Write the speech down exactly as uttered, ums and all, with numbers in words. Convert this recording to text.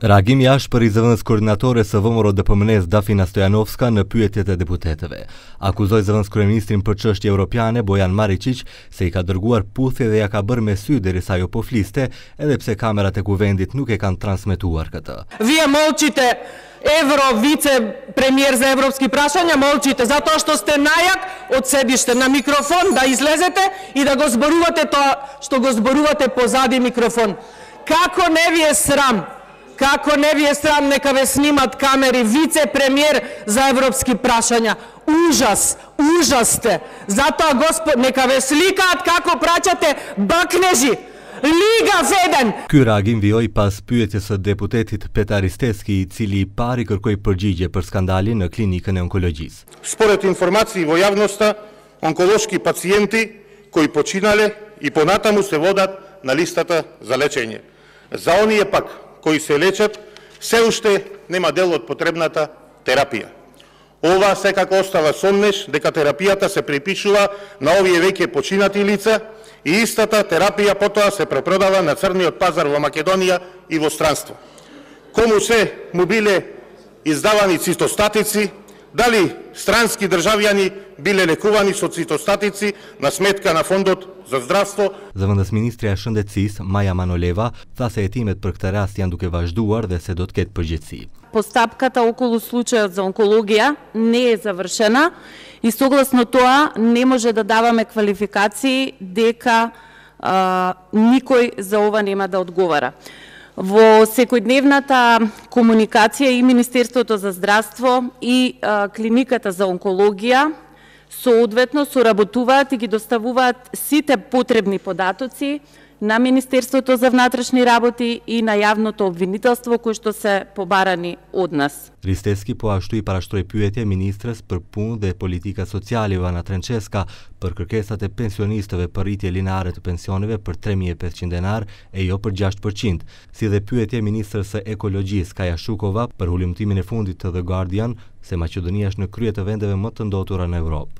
Reagim jashtë për i zëvendës koordinatore së V M R O D P M N-s Dafina Stojanovska në pyetjet e deputetëve. Akuzoi zëvendës kryeministrin për çështje europiane Bojan Maričić se i ka dërguar puthje dhe ja ka bërë me sy derisa ajo po fliste, edhe pse kamerat e kuvendit nuk e kanë transmetuar këtë. Vije molčite Evro vicepremijer za evropski prašanja, molčite zato što ste najak od sedište na mikrofon da izlezete i da go zboruvate to što go zboruvate pozadi mikrofon. Kako ne vi je sram? Kako ne vi je sram, neka ve snimat kameri, vicepremijer za evropski prašanja. Užas, užas ste. Zato, gospod, neka ve slikat kako praćate bakneži. Liga Feden! Ky reagim vijoi pas pyetjes së deputetit Petar Isteski, i cili i pari kërkoi përgjigje për skandalin në klinikën e onkologjisë. Според информации во јавноста, онколошки пациенти кои починале и понатаму се водат на листата за лечење. За оние пак кои се лечат, се уште нема дел од потребната терапија. Ова секако остава сомнеш дека терапијата се припишува на овие веќе починати лица и истата терапија потоа се препродава на црниот пазар во Македонија и во странство. Кому се му биле издавани цитостатици, дали странски државјани биле лекувани со цитостатици на сметка на фондот за здравство. Zëvendës ministrja e Shëndetësisë Maja Manoleva tha se hetimet për këtë rast janë duke vazhduar dhe se do të ketë përgjegjësi. Постапката околу случајот за онкологија не е завршена и согласно тоа не може да даваме квалификации дека а, никој за ова нема да одговара. Во секојдневната комуникација и Министерството за здравство и а, клиниката за онкологија соодветно соработуваат и ги доставуваат сите потребни податоци на Министерството за внатрешни работи и на јавното обвинителство кои што се побарани од нас. Risteski po ashtu i parashtroi pyetje ministres për punë dhe politika sociale Ivana Trenceska për kërkesat e pensionistëve për rritje lineare të pensioneve për tre mijë e pesëqind denar e jo për gjashtë përqind, si dhe pyetje ministres së ekologjisë Kaja Shukova për hulumtimin e fundit të The Guardian se Maqedonia është në krye të vendeve më të ndotura në Europë.